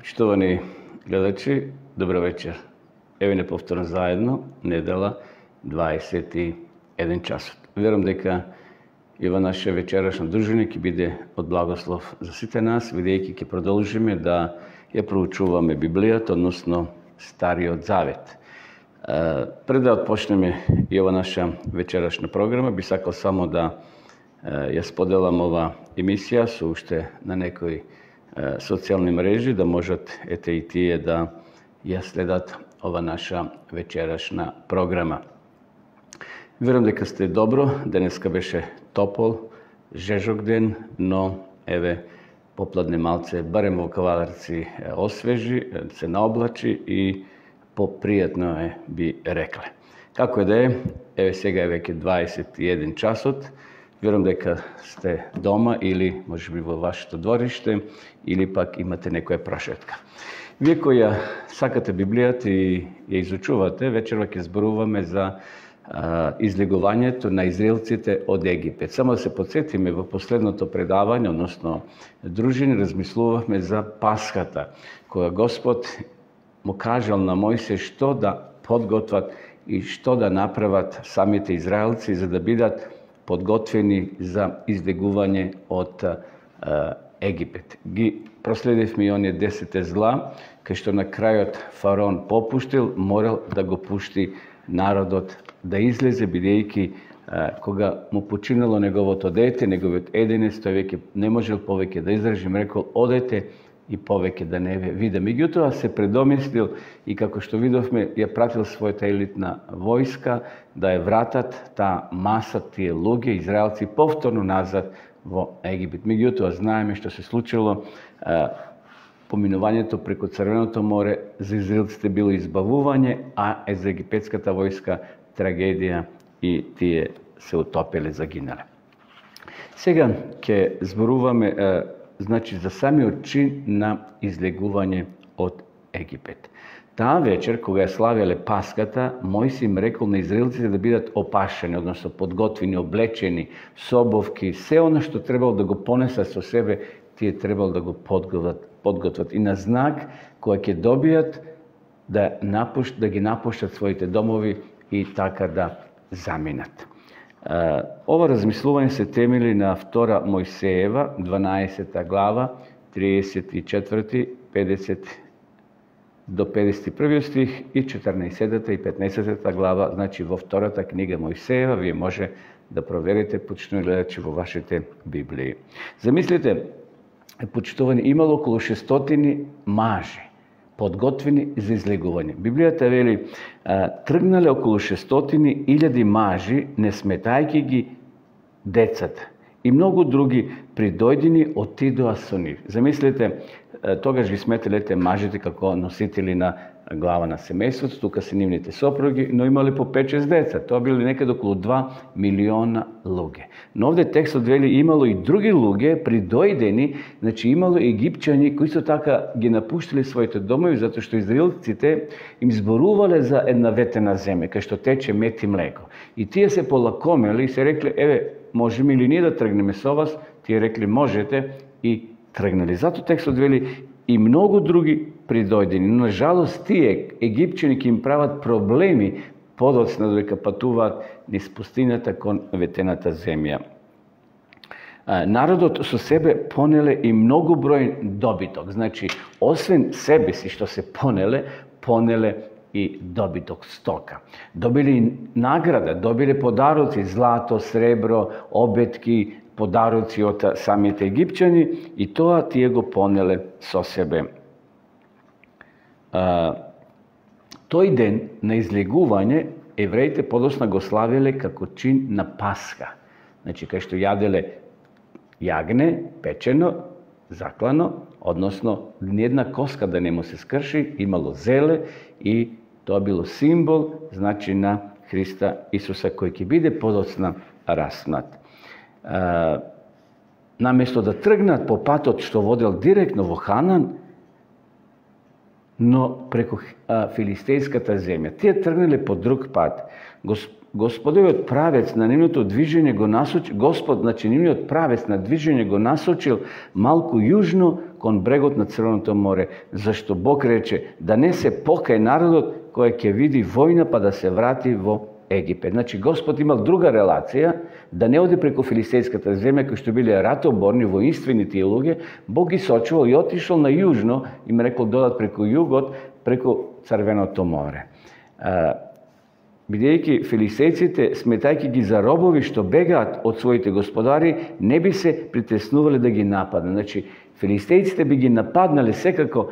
Почитувани гледачи, добро вечер. Еве не повторно заедно, недела, 21 часот. Верувам дека и во наше вечерашно дружење ќе биде од благослов за сите нас, бидејќи ќе продолжиме да ја проучуваме Библијата, односно Стариот Завет. Пред да отпочнеме и ова наша вечерашна програма, би сакал само да ја споделам ова емисија со уште на некои социјални мрежи, да можат ете и тие да ја следат ова наша вечерашна програма. Верувам дека сте добро, денеска беше топол, жежок ден, но еве попладне малце, барем во Кавадарци освежи, се наоблачи и попријатно е, би рекле. Како е да е, еве сега е веќе 21 часот, верувам дека сте дома или можеби во вашето двориште или пак имате некоја прошетка. Вие кои ја сакате Библијата и ја изучувате, вечерва ќе зборуваме за излегувањето на израелците од Египет. Само да се подсетиме, во последното предавање, односно дружини, размислувавме за Пасхата, кога Господ му кажал на Мојсе што да подготват и што да направат самите израелци за да бидат подготвени за излегување од Египет. Ги проследивме и оние 10 зла, кај што на крајот фараон попуштил, морал да го пушти народот да излезе, бидејќи кога му починало неговото дете, неговиот единец, тој веќе не можел повеќе да издржи, рекол одете и повеќе да не ве видам. Меѓутоа се предомислил и како што видовме, ја пратил својата елитна војска да ја вратат таа маса, тие луѓе, израелци, повторно назад во Египет. Меѓутоа знаеме што се случило, поминувањето преку Црвеното море за израелците било избавување, а за египетската војска трагедија и тие се утопеле, загинале. Сега ќе зборуваме значи за самиот чин на излегување од Египет. Таа вечер, кога ја славеле Паската, Мојси им рекол на израелците да бидат опашени, односно подготвени, облечени, собовки, се оно што требало да го понесат со себе, тие требало да го подготват. И на знак, која ќе добијат да ги напуштат своите домови и така да заминат. Ова размислување се темели на 2 Мојсеева, 12 глава, 34, 50 до 51 стих и 14 и 15 глава, значи во втората книга Мојсеева, вие може да проверите, почитувани гледачи, во вашите Библии. Замислите, почитувани, имало околу 600 мажи, подготвени за излегување. Библијата вели, тргнале околу 600.000 мажи, не сметајќи ги децата. И многу други придојдени отидоа со нив. Замислете, тогаш ги сметале ете мажите како носители на глава на семејството, тука се нивните сопруги, но имале по 5-6 деца. Тоа били некаде околу 2 милиона луѓе. Но овде текстот вели имало и други луѓе придојдени, значи имало египчани кои со така ги напуштиле своите домови, затоа што израелците им зборувале за една ветена земја, кај што тече мед и млеко. И тие се полакомели и се рекле, еве, можеме ли ние да тргнеме со вас? Тие рекле, можете, и тргнали. Зато текстот вели и многу други придојдени. Но, на жалост, тие египчани ќе им прават проблеми подоцна додека патуваат низ пустината кон ветената земја. Народот со себе понеле и многу број добиток. Значи, освен себе си што се понеле и добиток, стока. Добили награда, добиле подароци, злато, сребро, обетки, подароци од самите египчани и тоа тие го понеле со себе. Тој ден на излегување евреите подосна го славеле како чин на Пасха. Значи, кај што јаделе јагне, печено, заклано, односно ниедна коска да не му се скрши, имало зеле и тоа било символ, значи на Христа Исуса кој ќе биде подоцна раснат. Наместо да тргнат по патот што водел директно во Ханан, но преку филистејската земја. Тие тргнале по друг пат. Господовиот правец на нивното движење го насочил, Господ, значи нивниот правец на движење го насочил малку јужно кон брегот на Црвеното море, зашто Бог рече да не се покај народот кој ќе види војна па да се врати во Египет. Значи Господ имал друга релација, да не оди преку филистејската земја, кои што биле ратоборни, воинствени тие луѓе. Бог ги сочувал и отишол на јужно, им рекол додат преку југот, преку Црвеното море. Бидејќи филистејците, сметајќи ги за робови што бегаат од своите господари, не би се притеснувале да ги нападнат. Значи, филистејците би ги нападнале секако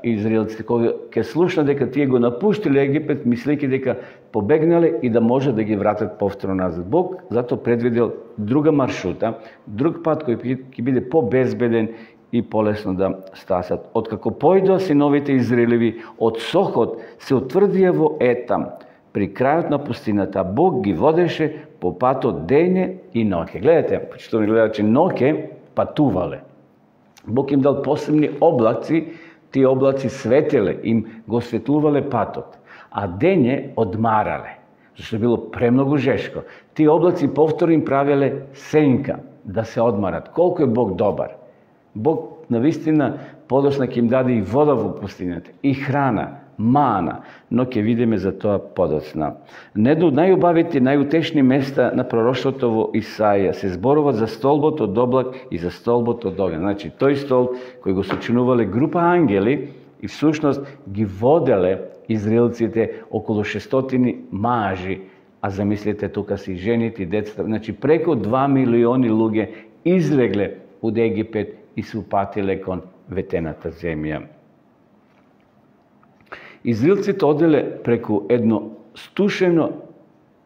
израелците, кога ќе слушнат дека тие го напуштиле Египет, мислејќи дека побегнале и да може да ги вратат повторно назад. Бог затоа предвидел друга маршрута, друг пат кој ќе биде побезбеден и полесно да стасат. Откако појдоа синовите Израелеви од Сохот, се утврдија во Етам. При крајот на пустината Бог ги водеше по патот дење и ноќе. Гледате, почитувани гледачи, ноќе патувале. Бог им дал посебни облаци, тие облаци светеле, им го светлувале патот, а дење одмарале, зашто било премногу жешко. Тие облаци повторно им правеле сенка да се одмарат. Колку е Бог добар. Бог навистина подосна ќе им даде и вода во пустината, и храна, мана, но ќе видиме за тоа подоцна. Недо од најубавите, најутешни места на пророштвото во Исаија се зборува за столбот од облак и за столбот од оган. Значи, тој столб кој го сочинувале група ангели и всушност ги воделе израелците околу 600 мажи, а замислете тука си жените и децата. Значи, преку 2 милиони луѓе излегле од Египет и се упатиле кон ветената земја. Израелците оделе преку едно стушено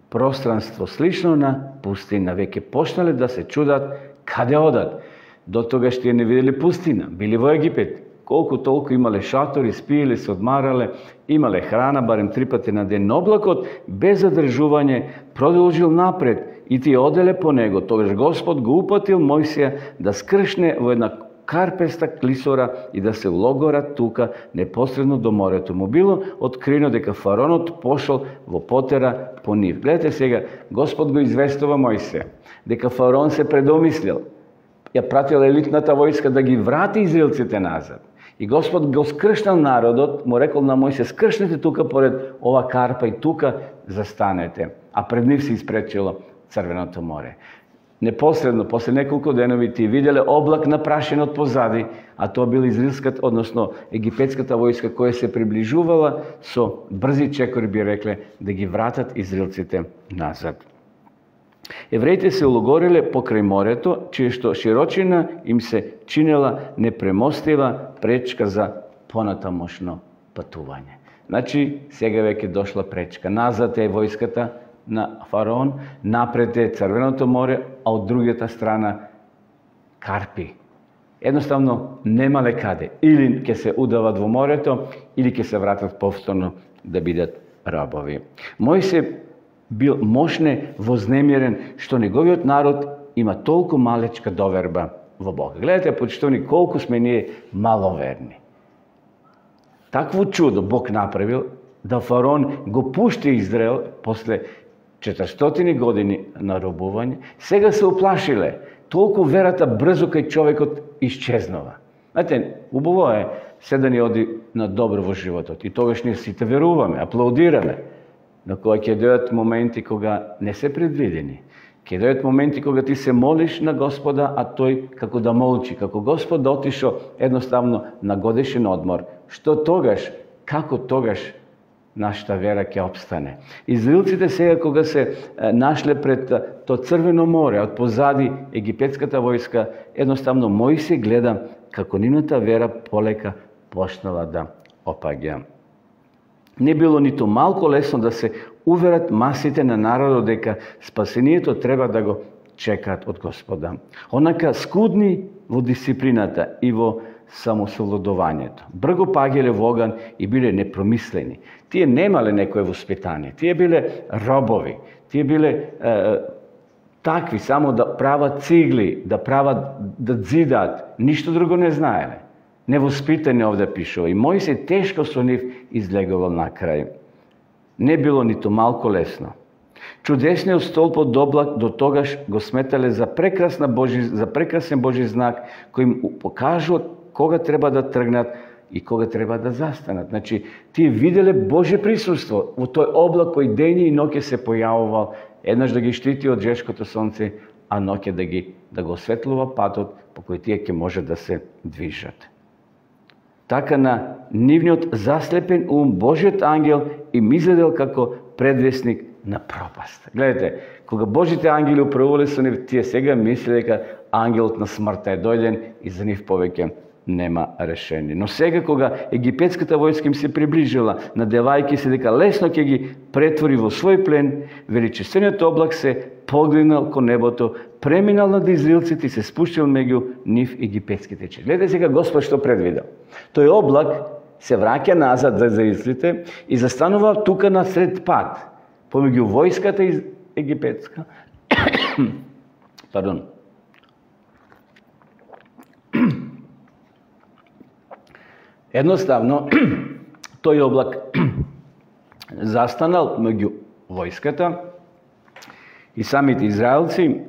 пространство, слично на пустина. Веќе почнале да се чудат каде одат. До тогаш тие не виделе пустина. Били во Египет. Колку толку имале шатори, спиеле, се одмарале, имале храна, барем 3 пати на ден. Облакот, без задржување, продолжил напред и тие оделе по него. Тогаш Господ го упатил Мојсија да скршне во една карпеста клисора и да се улогора тука непосредно до морето. Му било откриено дека фаронот пошол во потера по нив. Гледате сега, Господ го известува Мојсија дека фарон се предомислил. Ја пратил елитната војска да ги врати израелците назад. И Господ го скршнал народот, му рекол на Мојсија, скршнете тука поред ова карпа и тука застанете. А пред нив се испречило Црвеното море. Непосредно, после неколку денови, тие виделе облак напрашен од позади, а тоа била израелската, односно египетската војска која се приближувала со брзи чекори, би рекле, да ги вратат израелците назад. Евреите се улогориле покрај морето, чие што широчина им се чинела непремостива пречка за понатамошно патување. Значи, сега веќе дошла пречка. Назад е војската на фараон, напред е Црвеното море, а од другата страна карпи. Едноставно немале каде. Или ќе се удават во морето, или ќе се вратат повторно да бидат рабови. Мојсија бил мошне вознемирен што неговиот народ има толку малечка доверба во Бога. Гледате, почитувани, колку сме ние маловерни. Такво чудо Бог направил да фараон го пушти Израел после 400 години на робување. Сега се уплашиле. Толку верата брзо кај човекот исчезнува. Знаете, убаво е се да ни оди на добро во животот. И тогаш ние сите веруваме, аплаудираме. Но кога ќе дојдат моменти кога не се предвидени, ќе дојдат моменти кога ти се молиш на Господа, а тој како да молчи, како Господ отишо едноставно на годишен одмор. Што тогаш, како тогаш нашата вера ќе обстане? Израелците сега кога се нашле пред то Црвено море, од позади египетската војска, едноставно Мојсија гледа како нивната вера полека почнала да опаѓа. Не било ниту малку лесно да се уверат масите на народот дека спасението треба да го чекаат од Господа. Онака скудни во дисциплината и во самосовладувањето. Брго пагеле во оган и биле непромислени. Тие немале некое воспитание. Тие биле робови. Тие биле такви само да прават цигли, да дзидаат. Ништо друго не знаеле. Невоспитани овде пишува. И Мојсија тешко со нив излегувал на крај. Не било ниту малку лесно. Чудесниот столб од облак до тогаш го сметале за прекрасен Божи знак, кој им покажува кога треба да тргнат и кога треба да застанат. Значи, тие виделе Божје присуство во тој облак кој дење и ноќе се појавувал, еднаш да ги штити од жешкото сонце, а ноќе да го осветлува патот по кој тие ќе може да се движат. Така на нивниот заслепен ум Божиот ангел им изгледал како предвестник на пропаст. Гледате, кога Божите ангели управувале со нив, тие сега мислеле дека ангелот на смртта е дојден и за нив повеќе нема решение. Но сега кога египетската војска им се приближила, надевајќи се дека лесно ќе ги претвори во свој плен, величествениот облак се погледнал кон небото, преминал над израелците и се спуштил меѓу нив египетските чеди. Гледате сега Господ што предвидел. Тој облак се враќа назад за израелците и застанува тука на сред пат, помеѓу војската египетска. Пардон. Едноставно, тој облак застанал меѓу војската и самите израелци,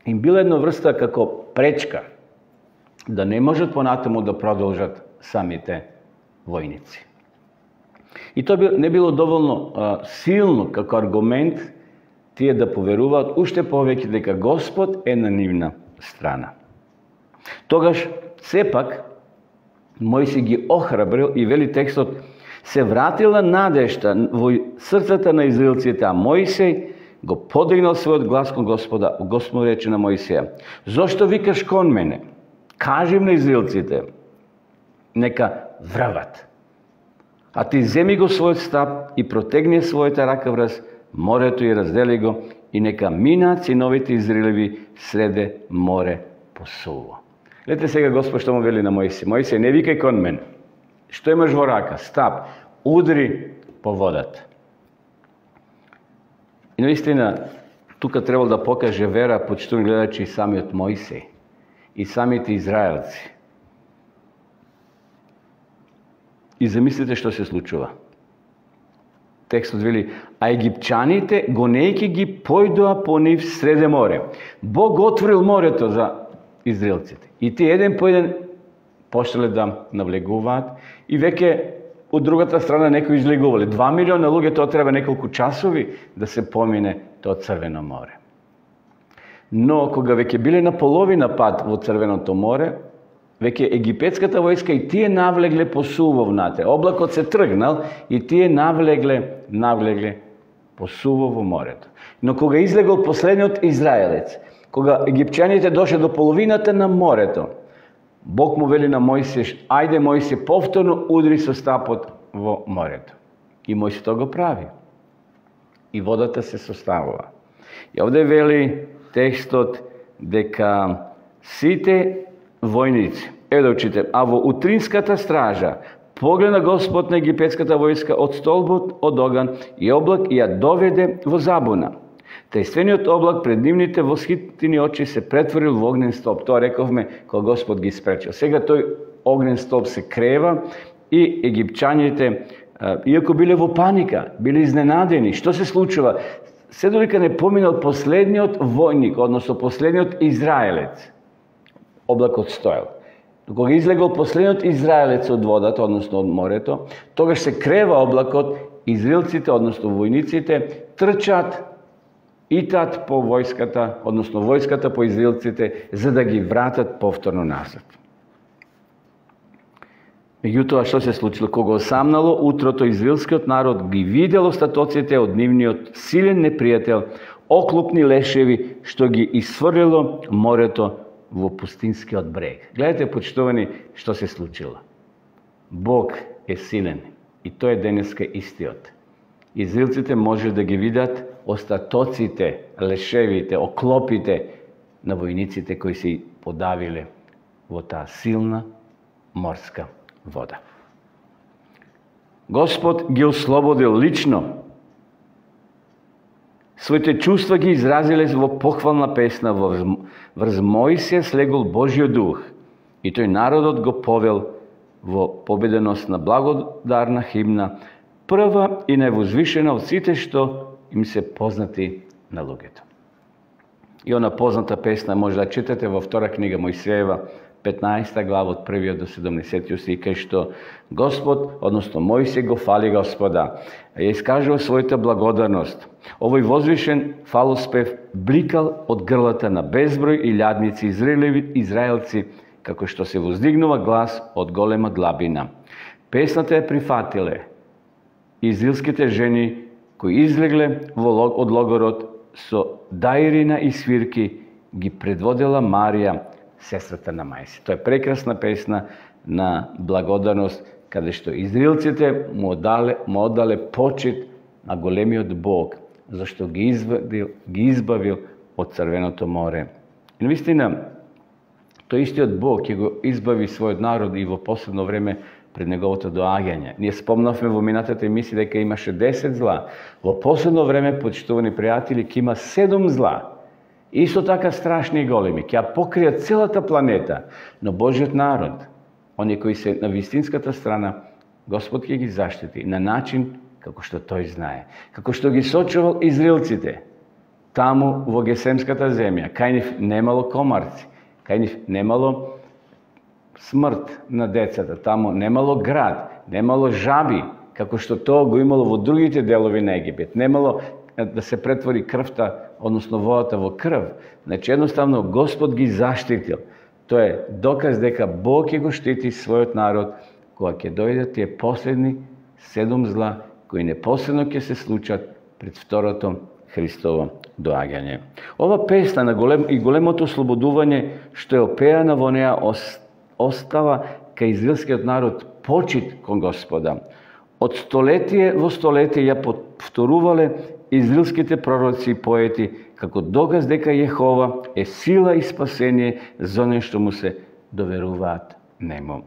им била една врста како пречка да не можат понатаму да продолжат самите војници. И тоа не било доволно силно како аргумент тие да поверуваат уште повеќе дека Господ е на нивна страна. Тогаш, сепак, Мојсей ги охрабрил и вели текстот, се вратила надежта во срцата на израелците, а Мојсей го подигнал својот глас кон Господа. Господ рече на Мојсеја: зошто викаш кон мене? Кажи на израелците, нека врват. А ти земи го својот стап и протегни својата рака врз морето и раздели го, и нека минаат синовите Израелеви среде море посуло. Гледате сега Господ што му вели на Мојсей: Мојсей, не викај кон мене. Што имаш во рака? Стап, удри по водата. И наистина, тука требало да покаже вера, почитувани гледачи, и самиот Мојсей, и самите израелци. И замислите што се случува. Текстот вели: а египчаните, гонејќи ги, појдоа по нив среде море. Бог отворил морето за израелците. И тие еден по еден почнале да навлегуваат и веќе од другата страна некои излегувале. 2 милиона луѓе, тоа треба неколку часови да се помине тоа Црвено море. Но кога веќе биле на половина пат во Црвеното море, веќе египетската војска и тие навлегле по сувов внатре. Облакот се тргнал и тие навлегле по сувов во морето. Но кога излегол последниот израелец, кога египчаните дошле до половината на морето, Бог му вели на Мојсей: ајде Мојсей, повторно удри со стапот во морето. И Мојсей тоа го прави. И водата се составува. И овде вели текстот дека сите војници, да учите, а во утринската стража погледна Господ на египетската војска од столбот од оган и облак и ја доведе во забуна. Тајствениот облак пред нивните восхитени очи се претворил во огнен столб. Тоа рековме кога Господ ги спречил. Сега тој огнен столб се крева и египчаните, иако биле во паника, биле изненадени. Што се случува? Се додека не поминал последниот војник, односно последниот израелец, облакот стоел. Кога излегол последниот израелец од водата, односно од морето, тогаш се крева облакот, израелците, односно војниците, трчат и тат по војската, односно војската по израелците, за да ги вратат повторно назад. Меѓутоа, што се случило? Кога осамнало утрото, израелскиот народ ги видел остатоците од нивниот силен непријател, оклопни лешеви, што ги исфрлило морето во пустинскиот брег. Гледате, почитувани, што се случило. Бог е силен и тој е денеска истиот. Израелците може да ги видат остатоците, лешевите, оклопите на војниците кои се подавиле во таа силна морска вода. Господ ги ослободил лично. Своите чувства ги изразиле во похвална песна, врз Мојсија слегол Божјиот дух и тој народот го повел во победеност на благодарна химна, прва и највозвишена од сите што им се познати на луѓето. И она позната песна може да читате во втора книга Мојсеева, 15 глава од 1 до 17 стих, кај што Господ, односно Мојсей го фали Господа, ја искажува својата благодарност. Овој возвишен фалоспев бликал од грлата на безброј илјадници израелци, како што се воздигнува глас од голема длабина. Песната ја прифатиле израелските жени кои излегле од логорот со даирина и свирки, ги предводела Марија, сестрата на Мајси. Тоа е прекрасна песна на благодарност, каде што израелците му оддале почит на големиот Бог, зашто ги избавил од Црвеното море. И навистина, тој истиот Бог ќе го избави својот народ и во последно време пред неговото доаѓање. Ние спомнавме во минатата емисија дека имаше 10 зла. Во последно време, почитувани пријатели, ќе има 7 зла. Исто така страшни и големи, ќе ја покријат целата планета, но Божиот народ, оние кои се на вистинската страна, Господ ќе ги заштити на начин како што тој знае. Како што ги сочувал израелците, таму во Гесемската земја, кај нив немало комарци, кај нив немало смрт на децата, таму немало град, немало жаби, како што тоа го имало во другите делови на Египет. Немало да се претвори крвта, односно водата во крв. Значи, едноставно, Господ ги заштитил. Тоа е доказ дека Бог ќе го штити својот народ, кога ќе дојдат тие последни 7 зла, кои непосредно ќе се случат пред второто Христово доаѓање. Ова песна на големото ослободување, што е опеана во неа, остава кај израелскиот народ почит кон Господа. Од столетие во столетие ја повторувале израелските пророци и поети како доказ дека Јехова е сила и спасение за оние што му се доверуваат нему.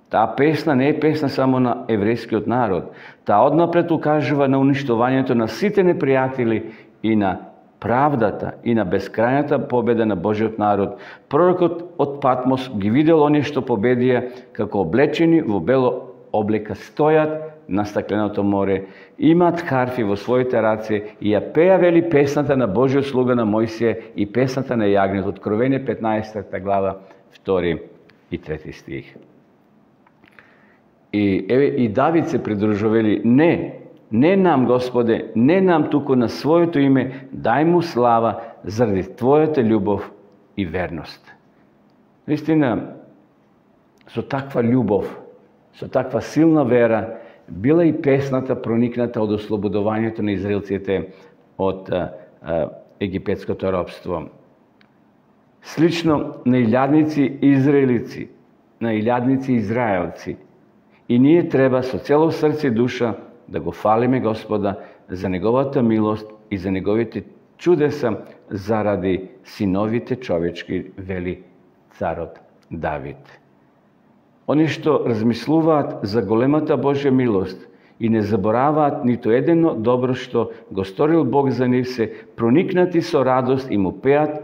Таа песна не е песна само на еврејскиот народ. Таа однапред укажува на уништувањето на сите непријатели и на правдата и на бескрајната победа на Божиот народ. Пророкот од Патмос ги видел оние што победија, како облечени во бело облека стојат на стакленото море, имаат харфи во своите раце и ја пеа, вели, песната на Божиот слуга на Мојсија и песната на јагнето. Откровение 15 глава 2 и 3 стих. И Давид се придружували: не нам, Господе, не нам, туку на своето име дај му слава заради Твојата љубов и верност. Наистина, со таква љубов, со таква силна вера, била и песната проникната од ослободувањето на израелците од египетското робство. Слично на илјадници израелици, на илјадници израелци, и ние треба со цело срце и душа да го фалиме Господа за неговата милост и за неговите чудеса заради синовите човечки, вели царот Давид. Они што размислуваат за големата Божја милост и не забораваат ниту едно добро што го сторил Бог за нив, се проникнати со радост и му пеат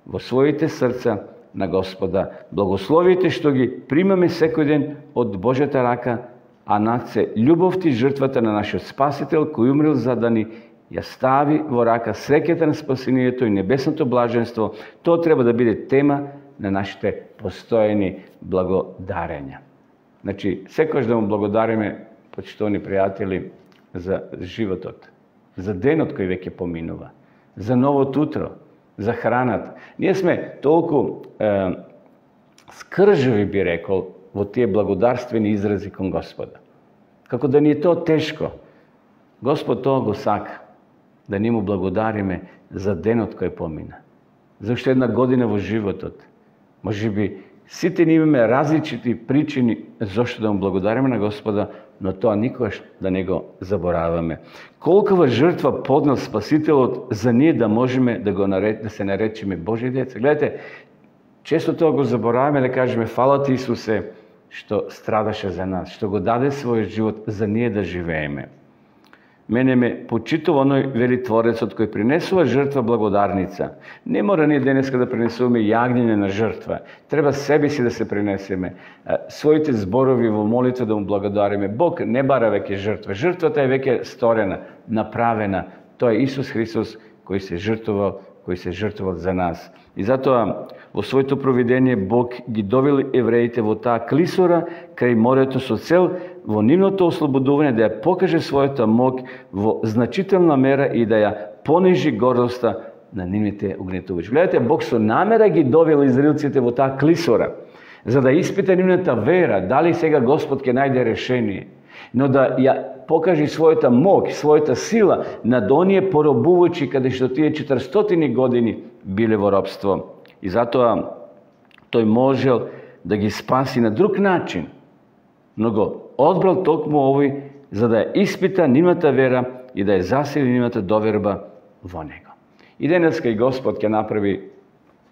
во своите срца на Господа. Благословите што ги примаме секој ден од Божјата рака, а над се љубовта и жртвата на нашиот Спасител, кој умрел за да ни ја стави во рака среќата на спасението и небесното блаженство. Тоа треба да биде тема на нашите постојани благодарења. Значи, секојаш да му благодариме, почитувани пријатели, за животот, за денот кој веќе поминува, за новото утро, за храната. Ние сме толку скржави, би рекол, во тие благодарствени изрази кон Господа. Како да ни е тоа тешко. Господ тоа го сака, да ни му благодариме за денот кој помина, за уште една година во животот. Може би сите ни имаме различити причини зашто да му благодариме на Господа, но тоа никогаш да не го забораваме. Колкава жртва поднел Спасителот за ние да можеме да се наречеме Божји деца. Гледате, често тоа го забораваме, да кажеме фала ти, Исусе, што страдаше за нас, што го даде својот живот за ние да живееме. Мене ме почитува оној, вели Творецот, кој принесува жртва благодарница. Не мора ние денеска да принесуваме јагниње на жртва. Треба себе си да се принесеме, своите зборови во молитва да му благодариме. Бог не бара веќе жртва. Жртвата е веќе сторена, направена. Тоа е Исус Христос кој се жртвувал, кој се жртвувал за нас. И затоа во своето провидение Бог ги довел евреите во таа клисора крај морето со цел во нивното ослободување да ја покаже својата моќ во значителна мера и да ја понижи гордоста на нивните угнетувачи. Гледате, Бог со намера ги довел израелците во таа клисора, за да испита нивната вера, дали сега Господ ќе најде решение, но да ја покаже својата моќ, својата сила над оние поробувачи каде што тие 400 години биле во робство. И затоа тој можел да ги спаси на друг начин, но го одбрал токму овој за да ја испита нивната вера и да ја засили нивната доверба во него. И денеска и Господ ќе направи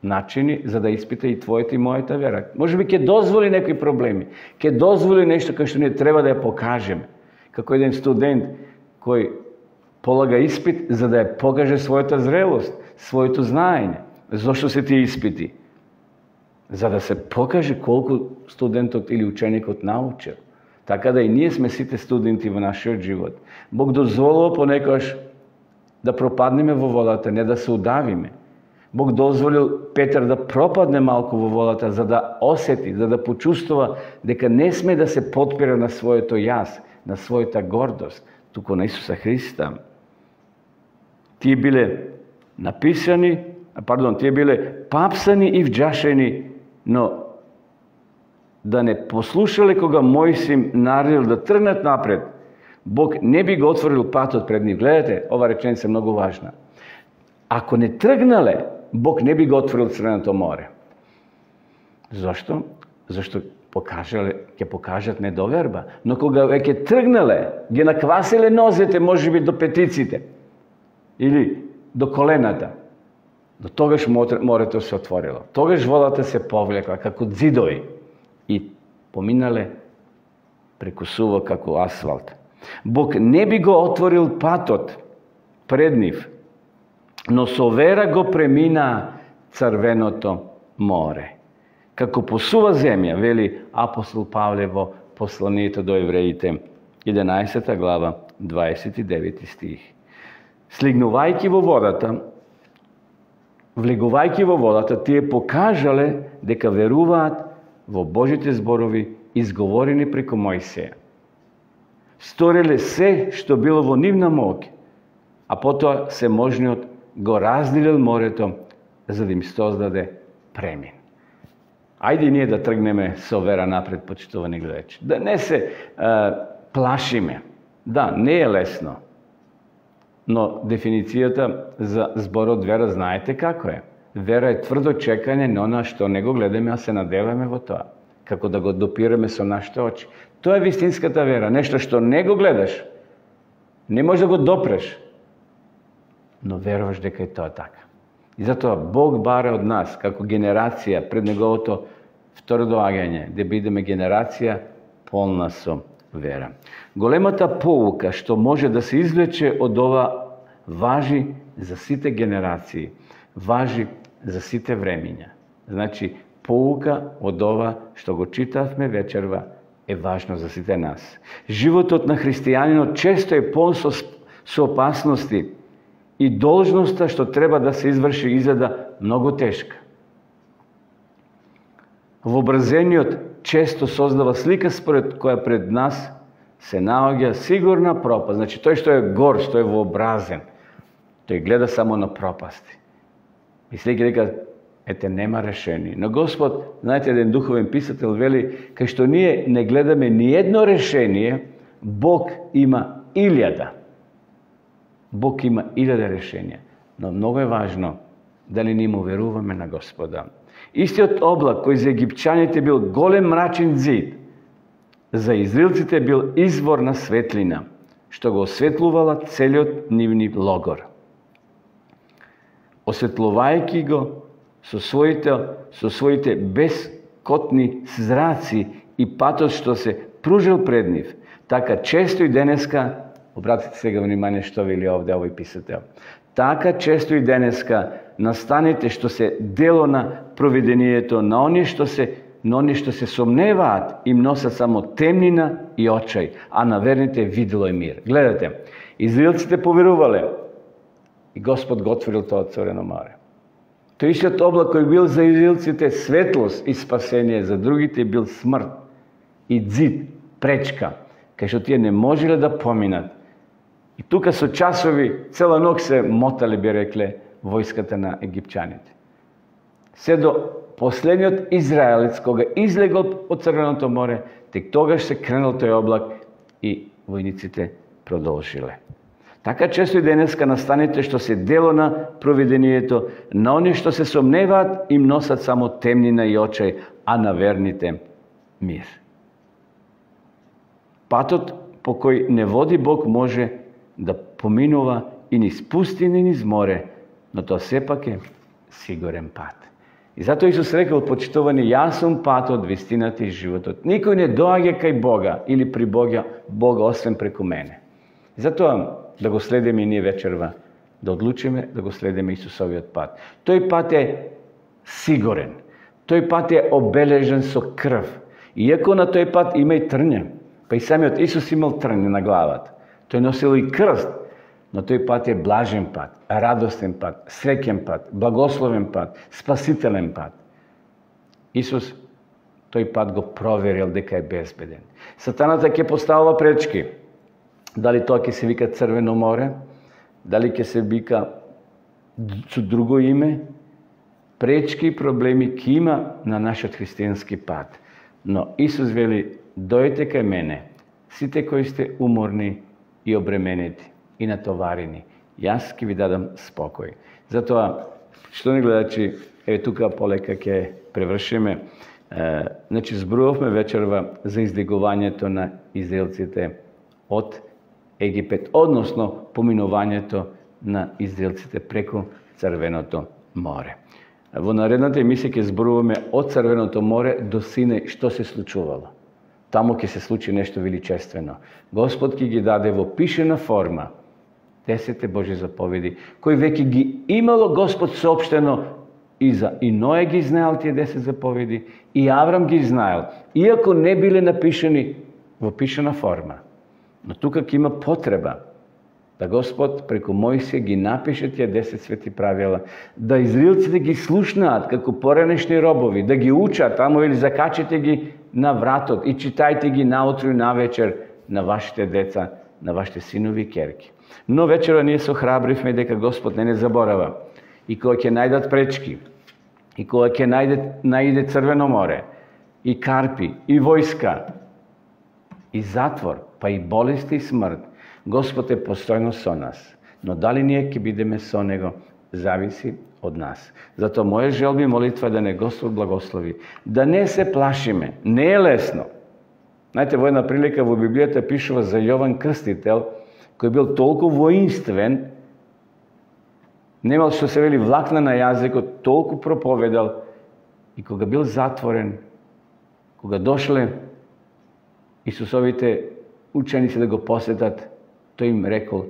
начини за да испита и твојата и мојата вера. Може би ќе дозволи некои проблеми, ќе дозволи нешто кај што ние треба да ја покажеме. Како еден студент кој полага испит за да ја покаже својата зрелост, своето знаење. Зошто се тие испити? За да се покаже колку студентот или ученикот научил. Така да и ние сме сите студенти во нашиот живот. Бог дозволува понекогаш да пропаднеме во водата, не да се удавиме. Бог дозволил Петар да пропадне малку во водата, за да осети, за да почувствува дека не сме да се потпира на своето јас, на својата гордост, туку на Исуса Христа. Тие биле тие биле папсани и вџашени, но да не послушале кога Мојсим наредил да тргнат напред, Бог не би го отворил патот пред нив. Гледате, ова реченица е многу важна. Ако не тргнале, Бог не би го отворил Црвеното море. Зошто? Зашто ќе покажат недоверба. Но кога веќе тргнале, ги накваселе нозете, можеби до петиците или до колената, до тогаш морето се отворило. Тогаш водата се повлекла како ѕидови и поминале преку суво како асфалт. Бог не би го отворил патот пред нив, но со вера го премина Црвеното море. Како по сува земја, вели апостол Павле во посланието до евреите, 11 глава, 29 стих. Слигнувајќи во водата, влегувајќи во водата, тие покажале дека веруваат во Божите зборови изговорени преку Мојсеја. Стореле се што било во нивна моќ, а потоа Всеможниот го разделил морето за да им создаде премин. Ајде ние да тргнеме со вера напред, почитувани гледачи. Да не се плашиме. Да, не е лесно. Но дефиницијата за зборот вера знаете како е. Вера е тврдо чекање на она што не го гледаме, а се надеваме во тоа. Како да го допираме со нашите очи. Тоа е вистинската вера. Нешто што не го гледаш, не можеш да го допреш, но веруваш дека е тоа така. И затоа Бог бара од нас, како генерација пред Неговото второ доаѓање, да бидеме генерација полна со вера. Големата поука што може да се извлече од ова важи за сите генерации, важи за сите времиња. Значи, поука од ова што го читавме вечерва е важно за сите нас. Животот на христијанинот често е полн со опасности и должноста што треба да се изврши изгледа многу тешка. Вообразениот често создава слика според која пред нас се наоѓа сигурна пропаст. Значи, тој што е гор, што е вообразен, тој гледа само на пропасти. Мислејќи дека ете нема решение. Но Господ, знаете, еден духовен писател вели, кај што ние не гледаме ни едно решение, Бог има 1000. Бог има 1000 решенија. Но многу е важно дали ние му веруваме на Господа. Истиот облак кој за египчаните бил голем мрачен ѕид, за израелците бил извор на светлина, што го осветлувала целиот нивни логор. Осветлувајќи го со своите бескотни зраци и патот што се пружил пред нив, така често и денеска, обратите сега внимание што вели овде овој писател, така често и денеска настаните што се дело на провидението на оние што се сомневаат, им носат само темнина и очај, а на верните видело е мир. Гледате, израелците поверувале и Господ го отворил тоа Црвено море. Тој истиот облак кој бил за израелците светлост и спасение, за другите бил смрт и ѕид, пречка, кај што тие не можеле да поминат. И тука со часови, цела ног се мотале, би рекле, војската на египчаните. Се до последниот израелец, кога излегол од Црвеното море, тек тогаш се кренал тој облак и војниците продолжиле. Така често и денеска настаните што се дело на провидението, на они што се сомневаат, им носат само темнина и очај, а на верните мир. Патот по кој не води Бог може да поминува и низ пустина и низ море, но тоа сепак е сигурен пат. И затоа Исус рекол, почитувани, јас сум патот, вистината и животот. Никој не доаѓа кај Бога или при Бога освен преку мене. И затоа да го следиме и ние вечерва, да одлучиме да го следиме Исусовиот пат. Тој пат е сигурен. Тој пат е обележен со крв. Иако на тој пат има и трња, па и самиот Исус имал трње на главата. Тој носил и крст, но тој пат е блажен пат, радостен пат, среќен пат, благословен пат, спасителен пат. Исус тој пат го проверил дека е безбеден. Сатаната ќе поставува пречки. Дали тоа ќе се вика Црвено море, дали ќе се вика со друго име, пречки и проблеми ќе има на нашиот христијански пат. Но Исус вели, дојдете кај мене, сите кои сте уморни и обременети и натоварени, јас ќе ви дадам спокој. Затоа, што не гледачи, еве тука полека ќе превршиме. Значи, зборувавме вечерва за издигувањето на израелците од Египет, односно поминувањето на израелците преку Црвеното море. Во наредната емисија ќе зборуваме од Црвеното море до Синај што се случувало. Таму ќе се случи нешто величествено. Господ ќе ги даде во пишена форма 10 Божји заповеди, кои веќе ги имало Господ соопштено и Ноe ги знаел тие 10 заповеди, и Аврам ги знаел, иако не биле напишани во пишена форма. Но тука ќе има потреба да Господ преку Мојсија ги напише тие 10 свети правила, да израелците ги слушнаат како поранешни робови, да ги учат, тамо или закачете ги на вратот и читајте ги наутро и навечер на вашите деца, на вашите синови и керки. Но вечера ние се охрабривме дека Господ не заборава. И кога ќе најдат пречки, и кога ќе најде Црвено море, и карпи, и војска, и затвор, па и болести и смрт, Господ е постојно со нас. Но дали ние ќе бидеме со Него, зависи од нас. Затоа моја желба и молитва да не Господ благослови. Да не се плашиме. Не е лесно. Знаете, во една прилика во Библијата пишува за Јован Крстител, кој бил толку воинствен, немал што се вели влакна на јазикот, толку проповедал, и кога бил затворен, кога дошле Исусовите ученици да го посетат, тој им рекол,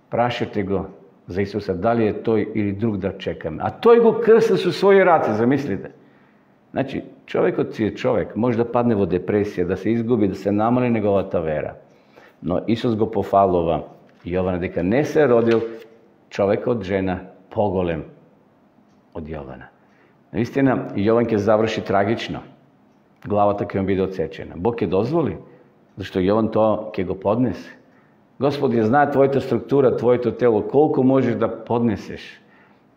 прашете го за Исуса, дали е тој или друг да чекаме. А тој го крста со своји раце, замислите. Значи, човекот си е човек, може да падне во депресија, да се изгуби, да се намали неговата вера. Но Исус го пофалува Јована дека не се родил човек од жена поголем од Јована. Наистина, Јован ќе заврши трагично. Главата ќе му биде отсечена. Бог ќе дозволи, зашто Јован тоа ќе го поднесе. Господ ја знае твојата структура, твоето тело, колку можеш да поднесеш.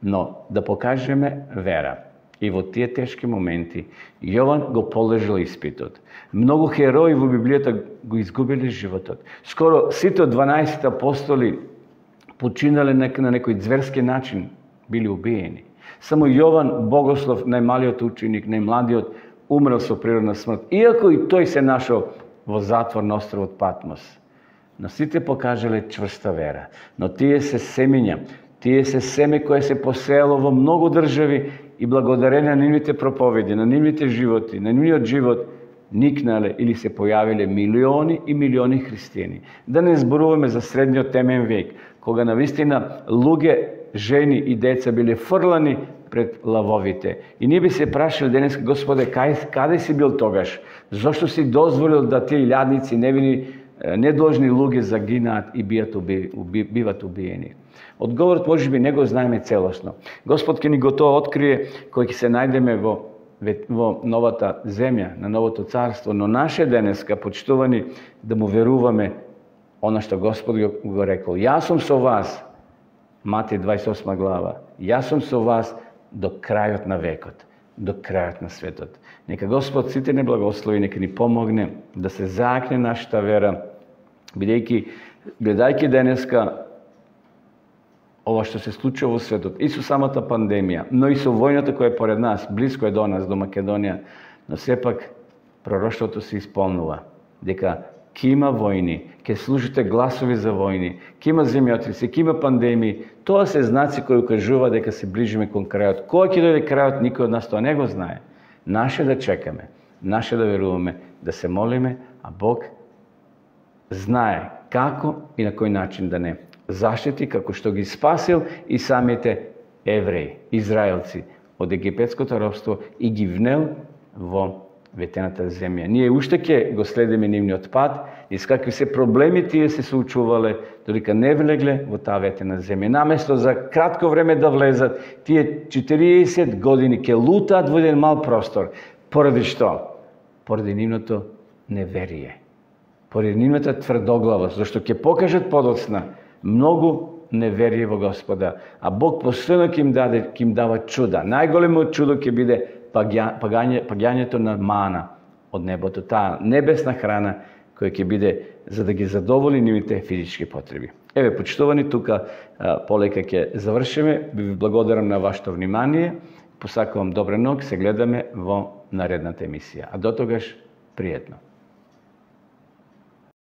Но да покажеме вера. И во тие тешки моменти Јован го положил испитот. Многу херои во Библијата го изгубили животот. Скоро сите 12 апостоли починале на некој зверски начин, били убиени. Само Јован Богослов, најмалиот ученик, најмладиот, умрел со природна смрт. Иако и тој се нашол во затвор на островот Патмос. Но сите покажале чврста вера. Но тие се семиња, тие се семе кое се посеяло во многу држави и благодарение на нивните проповеди, на нивните животи, на нивниот живот, никнале или се појавиле милиони и милиони христијани. Да не зборуваме за средниот темен век, кога навистина луѓе, жени и деца биле фрлани пред лавовите. И ние би се прашали денес, Господе, каде си бил тогаш? Зошто си дозволил да тие илјадници, невини, недолжни луѓе загинаат и биват убиени? Одговорот можеби не го знаеме целосно. Господ ќе ни го тоа открие кој ќе се најдеме во новата земја, на новото царство, но наше денеска, почитувани, да му веруваме она што Господ го рекол. Јас сум со вас, Матеј 28 глава, јас сум со вас до крајот на векот, до крајот на светот. Нека Господ сите не благослови, нека ни помогне да се заакне нашата вера, гледајќи денеска ова што се случува во светот, и со самата пандемија, но и со војната која е поред нас, близко е до нас, до Македонија, но сепак пророштвото се исполнува, дека ќе има војни, ќе слушате гласови за војни, ќе има земјотреси, ќе има пандемии. Тоа се знаци кои укажува дека се ближиме кон крајот. Кој ќе дојде крајот, никој од нас тоа не го знае. Наше да чекаме, наше да веруваме, да се молиме, а Бог знае како и на кој начин да не заштити, како што ги спасил и самите евреи, израелци од египетското робство и ги внел во ветената земја. Ние уште ќе го следиме нивниот пат и с какви се проблеми тие се соочувале, додека не влегле во таа ветена земја. Наместо за кратко време да влезат, тие 40 години ќе лутаат во еден мал простор. Поради што? Поради нивното неверие. Поради нивната тврдоглавост, зашто ќе покажат подоцна многу неверие во Господа, а Бог постојано ќе им дава чуда. Најголемо чудо ќе биде паѓањето на мана од небото, таа небесна храна која ќе биде за да ги задоволи нивните физички потреби. Еве, почитувани, тука полека ќе завршиме. Ви благодарам на вашето внимание. Посакувам добра ног, се гледаме во наредната емисија. А до тогаш, пријатно.